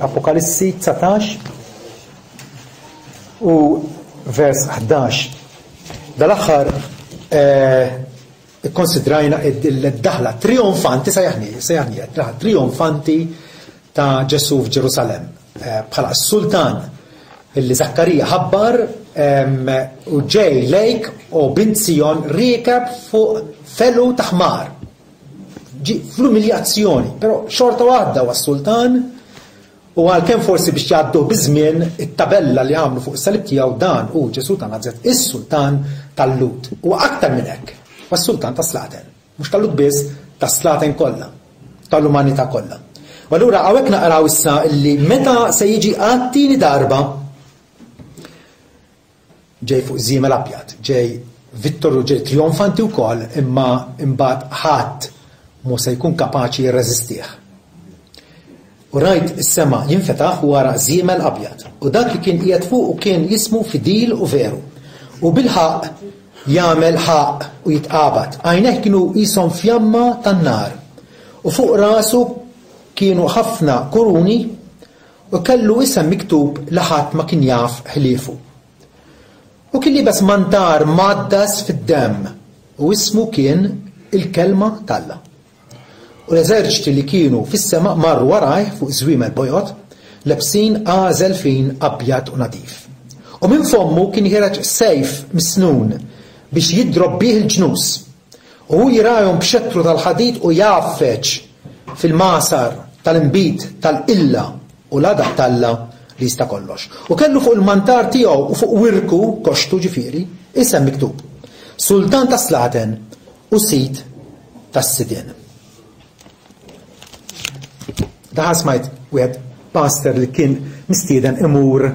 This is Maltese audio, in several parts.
Apokalissi 19 u vers 11. Dal-aħħar eh, ikkonsidrajna id-daħla trionfanti sejjaħni, sejjaħni daħla trionfanti ta' Ġesu f'Ġerusalemm eh, bħala s-sultan illi Zakkarija ħabbar u ġej lejk u bint Sijon riekeb fuq felu ta' ħmar. Ġie fl-umiljazzjoni, però xorta waħda huwa s-sultan u għalkemm forsi biex jgħadduh biż-żmien it-tabella li għamlu fuq is-salib tiegħu dan hu Ġesù ta' Nazaret, is-sultan tal-Lhud. Huwa aktar minn hekk, huwa s-sultan tas-slaten. Mhux tal-Lhud biss, tas-slaten kollha, tal-umanità kollha. U allura hawnhekk naqraw issa li meta se jiġi għat-tieni darba Ġej fuq żiemel abjad, ġej vittorju, ġej trijonfanti wkoll, imma imbagħad ħadd mhu se jkun kapaċi jirreżistih. U rajt is-sema jinfetaħ u ara żiemel abjad, u dak li kien qiegħed fuqu kien jismu Fidil u Veru, u bil-ħaqq jagħmel ħaqq u jitqabad. Għajnejh kienu qishom fjamma tan-nar, u fuq rasu kienu ħafna kuruni, U kellu isem miktub li ħadd ma kien jaf ħliefu. U kien liebes mantar mgħaddas fid-demm, u ismu kien il-Kelma t'Alla. U l-eżerċti li kienu fis-sema marru warajh fuq żwiemel bojod, lebsin għażel fin abjad u nadif. U minn fommu kien ħiereġ sejf misnun biex jidrob bih il-ġnus. U hu jirgħajhom b'xettru tal-ħadid u jgħaffeġ fil-magħsar tal-inbid tal-qilla u l-għadab t'Alla li jista' kollox. U kellu fuq il-mantar tiegħu u fuq wirku, koxxtu ġifieri, isem miktub, Sultan tas-slaten u Sid tas-sidien. Daħal smajt wieħed pastor li kien mistieden imur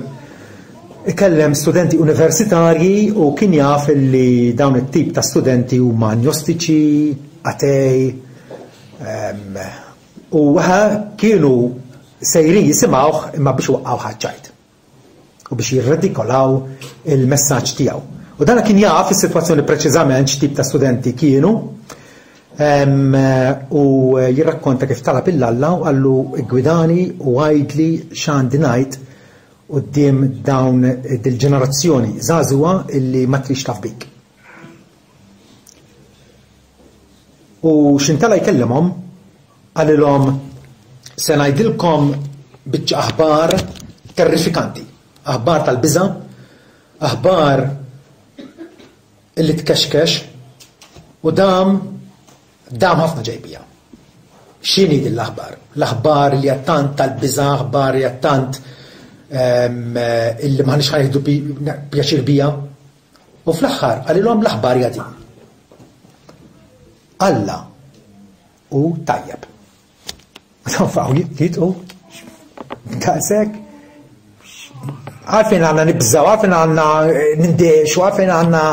ikellem studenti universitarji u kien jaf li dawn it-tip ta' studenti huma agnostiċi, atej, u kienu sejrin jisimgħuh imma biex waqqgħu ħaġġajt. u biex jirredikolaw il-messaġġ tiegħu. U dana kien jaf is-sitwazzjoni preċiżament x'tip ta' studenti kienu u jirrakkonta kif talab il Alla u qallu gwidani u għidli x'għandi ngħid quddiem dawn dil-ġenerazzjoni żagħżugħa illi ma trix taf bik. U x'intela jkellimhom, qalilhom se ngħidilkom biċċa aħbar terrifikanti, aħbar tal-biża', aħbar illi tkexkex u dam dam ħafna ġej bija. X'inhi din l-aħbar? L-aħbar li tant tal-biża', aħbar li tant ehm, illi m'aħniex ħa nieħdu pjaċir bija. U fl-aħħar qalilhom l-aħbar hija din. Alla hu tajjeb. Faqgħu jitqu daqshekk. Għalfejn għandna nibżgħu, għalfejn għandna eh, nindexu, għalfejn għandna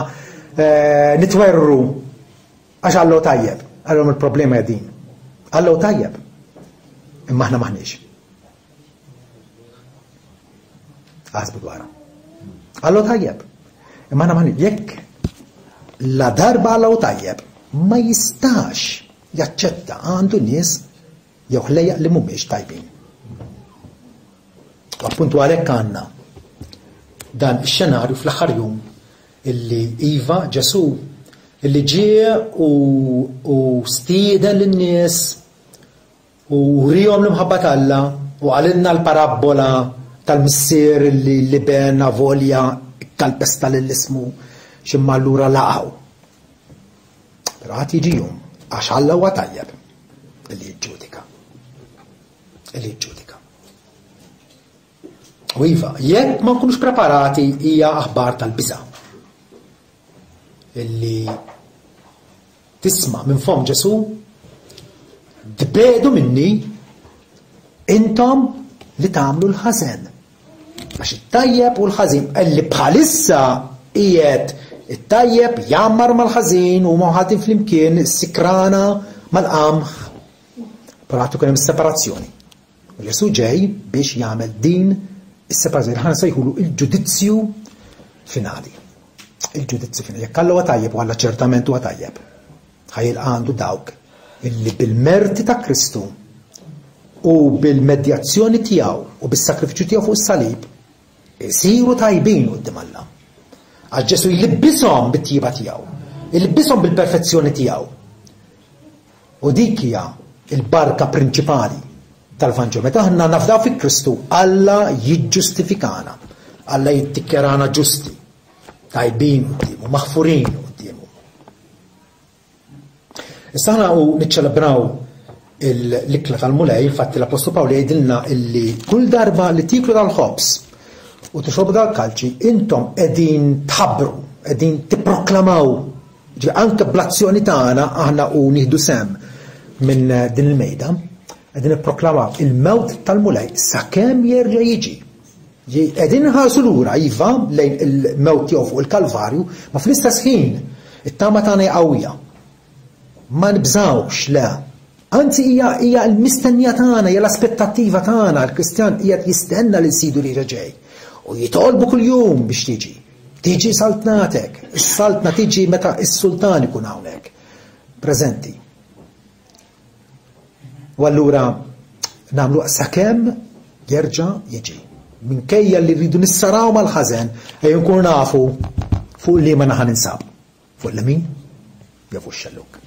eh, nitwerru. Għax Alla hu tajjeb. Għalhom il-problema hija din. Alla hu tajjeb. Imma aħna maħniex. Aħsbu dwarha. Alla tajjeb. Imma aħna maħniex jekk la darba Alla tajjeb ma jistax jaċċetta għandu nies jew ħlejjaq li mhumiex tajbin. U appuntu għalhekk għandna dan ix-xenarju fl-aħħar jum illi iva Ġesù illi ġie u, u stieden lin-nies U wriehom l-imħabba t'Alla u qalilna l-parabbola tal-missier li l-iben avolja kkalpesta lil ismu x'imma allura laqgħu. Però għad jiġi jum għax Alla huwa tajjeb li jiġġudika. Li jiġġudika. U iva, jekk ma nkunux preparati hija aħbar tal-biża'. Illi Tisma' minn fomm Ġesù, Tbiegħdu minni, intom li tagħmlu l-ħażen. Għax it-tajjeb u l-ħażin, li bħalissa qiegħed it-tajjeb jgħammar mal-ħażin u mħatin flimkien is-sikrana mal-qamħ. Però għad ikun hemm separazzjoni. U Ġesù ġej biex jagħmel din is-separazzjoni, ħana sejħulu il-ġudizzju finali. Il-ġudizzju finali. Jekk Alla huwa tajjeb u Alla ċertament huwa tajjeb, ħajilqa' għandu dawk illi bil-merti ta' Kristu U bil-medjazzjoni tiegħu u bis-sakrifiċċju tiegħu fuq is-salib isiru tajbin quddiem Alla. Għax Ġesu jlibbishom bit-tjieba tiegħu, jlibbishom bil-perfezzjoni tiegħu. U dik hija l-barka prinċipali tal-Vanġelu. Meta aħna nafdaw fi Kristu, Alla jiġġustifikana, Alla jiddikjarana ġusti, tajbin quddiemu, maħfurin quddiemu. Issa aħna u niċċelebraw l-ikla tal-Mulej, infatti l-Apostlu Pawl jgħidilna illi kull darba li tieklu dal-ħobż u tixorbu dal-kalċi, intom qegħdin tħabbru, qegħdin tipproklamaw. Ġifieri anke bl-azzjoni tagħna aħna u nieħdu sehem minn din il-mejda, qegħdin nipproklamaw il-mewt tal-Mulej sakemm jerġa' jiġi. Qegħdin inħarsu lura, iva, lejn il-mewt tiegħu fuq il-Kalvarju, ma fl-istess ħin it-tama tagħna hija qawwija. Ma nibżgħux, le. Anzi hija hija l-mistennija tagħna, hija l-aspettattiva tagħna, l-Kristjan qiegħed jistenna lil Sidu li ġej. U jitolbu kuljum biex tiġi. Tiġi saltnatek. Is-saltna tiġi meta s-sultan ikun hawnhekk. Preżenti. U allura nagħmlu sakemm jerġa' jiġi. Minkejja li rridu nissaraw mal-ħażen, ejja nkunu nafu fuq liema naħa ninsab. Fuq l-lemin jew fuq x-xellug.